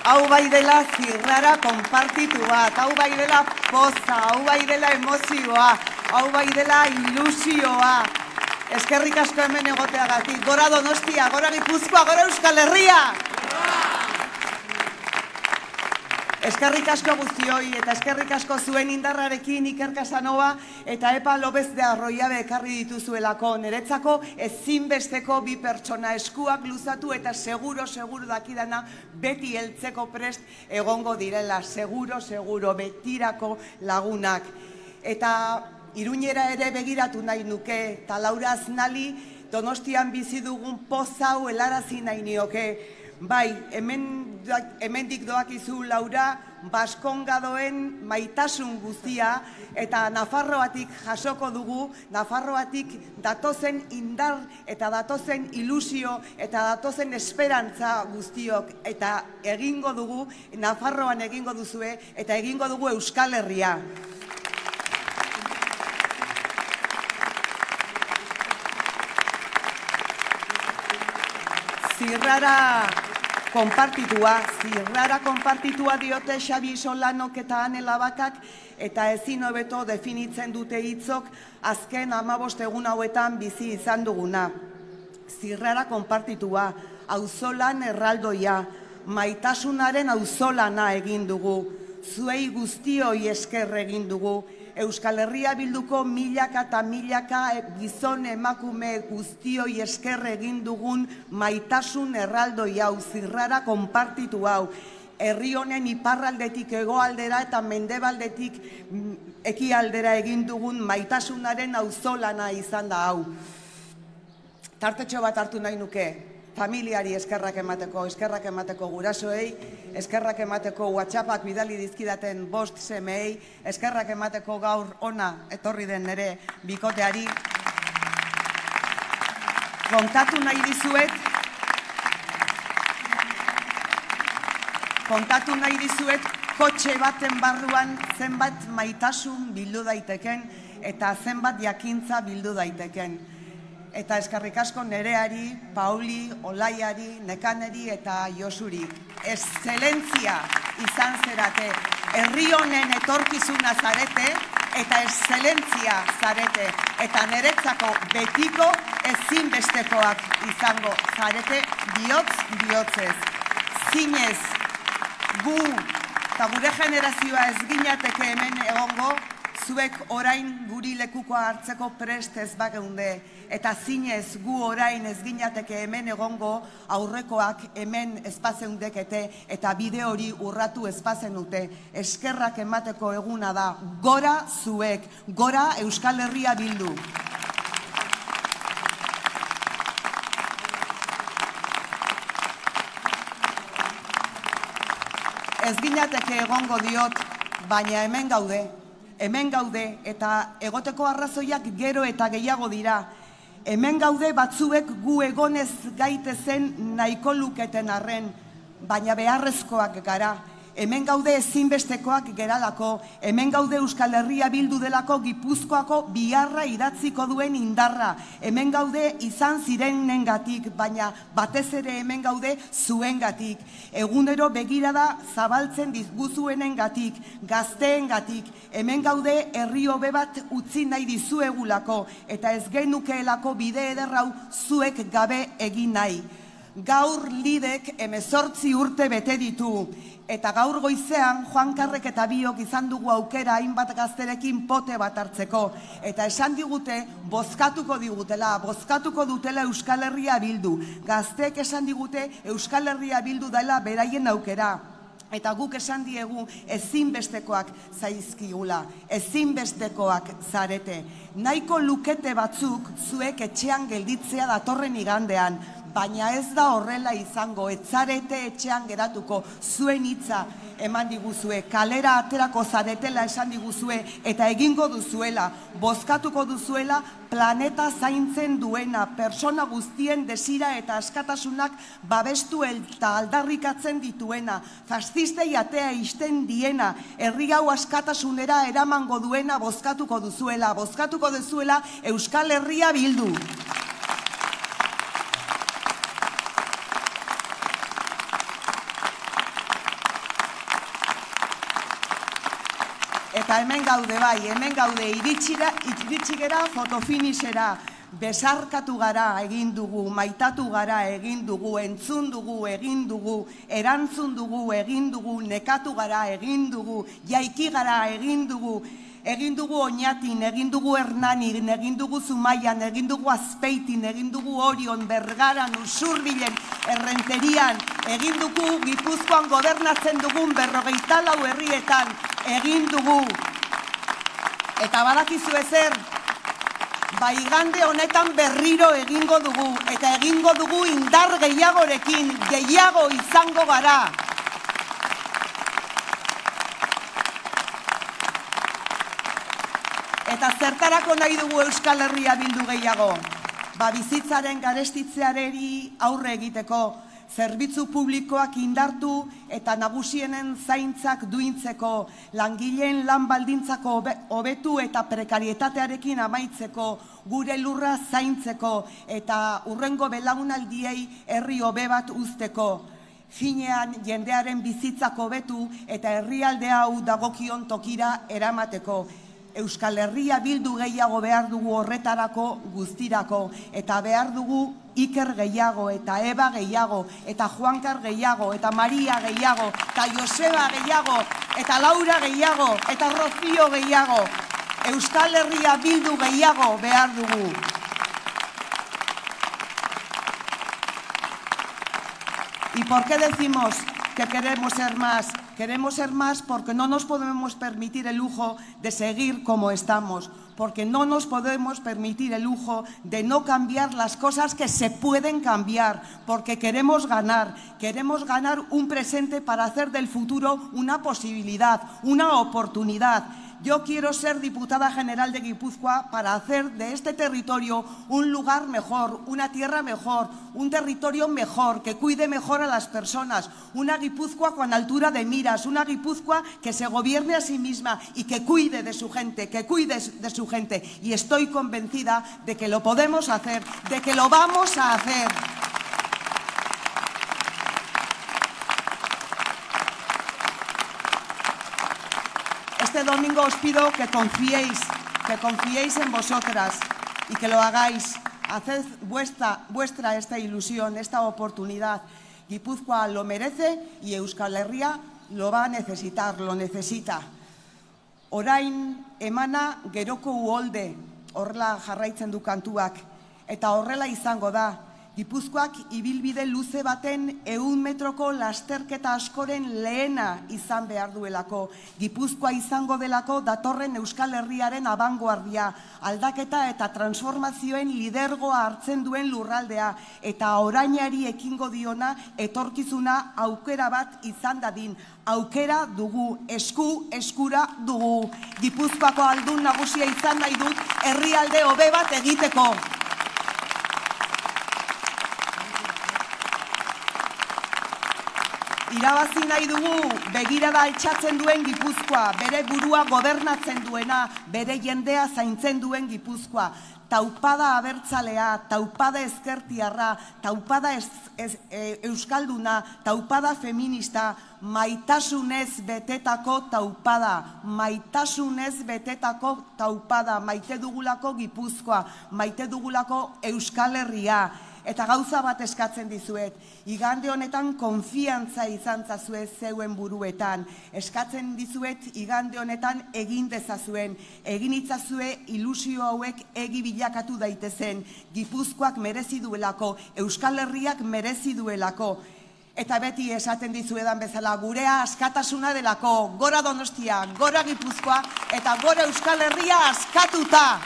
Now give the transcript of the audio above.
Hau bai dela zirrara konpartitu bat, hau bai dela poza, hau bai dela emozioa, hau bai dela ilusioa. Eskerrik asko hemen egoteagatik. Gora Donostia, gora Gipuzkoa, gora Euskal Herria! Eskerrik asko guztioi eta eskerrik asko zuen indarrarekin Iker Casanova eta Epa López de Arroyabe ekarri dituzuelako. Niretzako ezinbesteko bi pertsona, eskuak luzatu eta seguro dakidana beti heltzeko prest egongo direla. Seguro, betirako lagunak. Eta Iruñera ere begiratu nahi nuke, eta Laura Aznali Donostian bizi dugun poza hau helarazi nahi nioke. Bai, hemendik doakizu, Laura, Baskongadoen maitasun guztia eta Nafarroatik jasoko dugu, Nafarroatik datozen indar eta datozen ilusio eta datozen esperantza guztiok eta egingo dugu, Nafarroan egingo duzue eta egingo dugu Euskal Herria. Zirrara konpartitua diote Xabi Solanok eta Ane Labakak eta ezin hobeto definitzen dute hitzok azken 15 egun hauetan bizi izan duguna. Zirrara konpartitua, auzolan erraldoia, maitasunaren auzolana egin dugu, zuei guztioi esker egin dugu, Euskal Herria Bilduko milaka eta milaka gizon emakume guztioi esker egin dugun maitasun erraldoi hau, zirrara konpartitu hau. Herri honen iparraldetik hegoaldera eta mendebaldetik ekialdera egin dugun maitasunaren auzolana izan da hau. Tartetxo bat hartu nahi nuke. Familiari eskerrak emateko gurasoei, eskerrak emateko WhatsAppak bidali dizkidaten 5 semeei, eskerrak emateko gaur ona etorri den nere bikoteari. Kontatu nahi dizuet kotxe baten barruan zenbat maitasun bildu daiteken eta zenbat jakintza bildu daiteken. Eta eskerrik asko Nereari, Pauli, Olaiari, Nekaneri eta Josuri. Exzelentzia izan zerate, herri honen etorkizuna zarete eta exzelentzia zarete. Eta niretzako betiko ezinbestekoak izango zarete bihotzez. Zinez, gu eta gure generazioa ez ginateke hemen egongo, zuek orain guri lekukoa hartzeko prest ez bageunde. Eta zinez gu orain ez ginateke hemen egongo, aurrekoak hemen ezpazeundekete eta bide hori urratu ezpazenute. Eskerrak emateko eguna da, gora zuek, gora Euskal Herria Bildu. Ez ginateke egongo diot, baina hemen gaude eta egoteko arrazoiak gero eta gehiago dira. Hemen gaude batzuek gu egonez gaitezen nahiko luketen arren, baina beharrezkoak gara. Hemen gaude ezinbestekoak geralako, hemen gaude Euskal Herria Bildu delako Gipuzkoako biharra idatziko duen indarra. Hemen gaude izan zirenengatik, baina batez ere hemen gaude zuengatik. Egunero begirada zabaltzen dizguzuenengatik, gazteengatik. Hemen gaude herri hobe bat utzi nahi dizuegulako, eta ez genukeelako bide ederrau zuek gabe egin nahi. Gaur lidek 18 urte bete ditu, eta gaur goizean Juan Karrek eta biok izan dugu aukera hainbat gazterekin pote bat hartzeko, eta esan digute bozkatuko dutela Euskal Herria Bildu. Gazteek esan digute Euskal Herria Bildu dela beraien aukera. Eta guk esan diegu ezinbestekoak zaizkigula, ezinbestekoak zarete. Nahiko lukete batzuk zuek etxean gelditzea datorren igandean, baina ez da horrela izango, etzarete etxean geratuko, zuen hitza eman diguzue, kalera aterako zaretela esan diguzue, eta egingo duzuela, bozkatuko duzuela planeta zaintzen duena, persona guztien desira eta askatasunak babestu eta aldarrikatzen dituena, faszistei atea isten diena, herri hau askatasunera eramango duena bozkatuko duzuela Euskal Herria Bildu. Eta hemen gaude bai, hemen gaude iritsi gera fotofinishera, besarkatu gara egin dugu, maitatu gara egin dugu, entzun dugu egin dugu, erantzun dugu egin dugu, nekatu gara egin dugu, jaiki gara egin dugu, egin dugu Oñatin, egin dugu Hernanin, egin dugu Zumaian, egin dugu Azpeitin, egin dugu Orion, Bergaran, Usurbilen, Errenterian, egin dugu Gipuzkoan gobernatzen dugun 44 herrietan, egin dugu. Eta badakizu ezer, igande honetan berriro egingo dugu, eta egingo dugu indar gehiagorekin, gehiago izango gara. Eta zertarako nahi dugu Euskal Herria bildu gehiago? Bizitzaren garestitzeari aurre egiteko, zerbitzu publikoak indartu eta nagusienen zaintzak duintzeko, langileen lan baldintzako hobetu eta prekarietatearekin amaitzeko, gure lurra zaintzeko eta hurrengo belaunaldiei herri hobe bat uzteko. Finean jendearen bizitzak hobetu eta herrialde hau dagokion tokira eramateko. Euskal Herria bildu gehiago behar dugu horretarako guztirako, eta behar dugu Iker gehiago, eta Eba gehiago, eta Juankar gehiago, eta Maria gehiago, eta Joseba gehiago, eta Laura gehiago, eta Rocío gehiago. Euskal Herria bildu gehiago behar dugu. ¿Y por qué decimos que queremos ser más? Queremos ser más porque no nos podemos permitir el lujo de seguir como estamos, porque no nos podemos permitir el lujo de no cambiar las cosas que se pueden cambiar, porque queremos ganar un presente para hacer del futuro una posibilidad, una oportunidad. Yo quiero ser diputada general de Guipúzcoa para hacer de este territorio un lugar mejor, una tierra mejor, un territorio mejor, que cuide mejor a las personas, una Guipúzcoa con altura de miras, una Guipúzcoa que se gobierne a sí misma y que cuide de su gente, Y estoy convencida de que lo podemos hacer, de que lo vamos a hacer. Este domingo os pido que confiéis en vosotras y que lo hagáis. Haced vuestra esta ilusión, esta oportunidad. Guipúzcoa lo merece y Euskal Herria lo va a necesitar, lo necesita. Orain emana geroko uholde, horrela jarraitzen du kantuak, eta horrela izango da. Gipuzkoak ibilbide luze baten 100 metroko lasterketa askoren lehena izan behar duelako. Gipuzkoa izango delako datorren Euskal Herriaren abangoardia, aldaketa eta transformazioen lidergoa hartzen duen lurraldea, eta orainari ekingo diona etorkizuna aukera bat izan dadin. Aukera dugu, eskura dugu. Gipuzkoako aldun nagusia izan nahi dut herrialde hobe bat egiteko. Irabazi nahi dugu begirada altxatzen duen Gipuzkoa, bere burua gobernatzen duena, bere jendea zaintzen duen Gipuzkoa. Taupada abertzalea, taupada ezkertiarra, taupada euskalduna, taupada feminista, maitasunez betetako taupada, maite dugulako Gipuzkoa, maite dugulako Euskal Herria. Eta gauza bat eskatzen dizuet, igande honetan konfiantza izan zazue zeuen buruetan. Eskatzen dizuet igande honetan egin dezazuen, egin itzazue ilusio hauek egi bilakatu daitezen. Gipuzkoak merezi duelako, Euskal Herriak merezi duelako. Eta beti esaten dizuedan bezala, gurea askatasuna delako, gora Donostia, gora Gipuzkoa, eta gora Euskal Herria askatuta.